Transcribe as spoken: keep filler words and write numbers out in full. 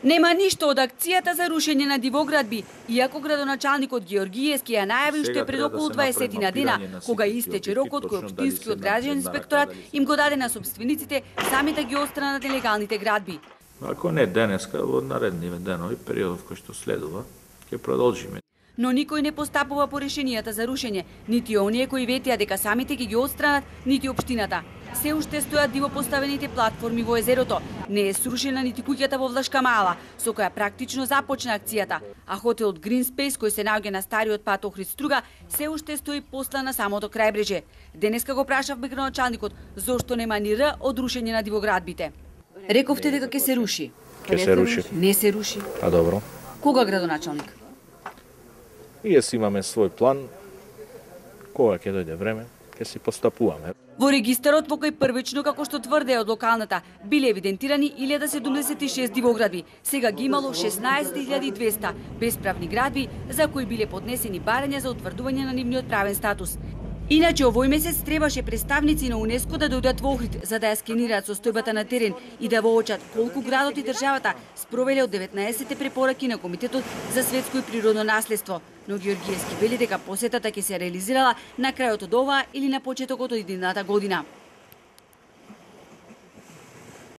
Нема ништо од акцијата за рушење на дивоградби, иако градоначалникот Георгиевски ја најави уште пред околу дваесет дена, кога истече рокот кој општинскиот граден инспекторат им го даде на собствениците сами да ги отстранат нелегалните градби. Ако не денеска, во наредниве денови, периодот кој што следува, ќе продолжиме. Но никој не постапува по решенијата за рушење, нити оние кои ветија дека самите ќе ги отстранат, нити општината. Се уште стојат диво поставените платформи во езерото, не е срушена нити куќата во Влашка мала, со која практично започна акцијата, а хотелот Green Space, кој се наоѓа на стариот пат Охрид Струга, се уште стои посла на самото крајбреже. Денеска го прашавме градоначалникот зошто нема ни р од рушење на дивоградбите. Рековте дека ќе се руши. Ќе се руши. Не се руши. А добро. Кога градоначалник? Ние си имаме свој план. Кога ќе дојде време, ќе си постапуваме. Во регистарот во кој првично, како што тврде од локалната, биле евидентирани илјада седумдесет и шест дивоградби. Сега ги имало шеснаесет илјади и двесте бесправни градби за кои биле поднесени барања за утврдување на нивниот правен статус. Иначе овој месец требаше представници на УНЕСКО да дојдат во Охрид за да ја скенираат состојбата на терен и да воочат колку градот и државата спровеле од деветнаесетте препораки на Комитетот за светско и природно наследство. Но Георгиевски вели дека посетата ќе се реализирала на крајот од оваа или на почетокот од идената година.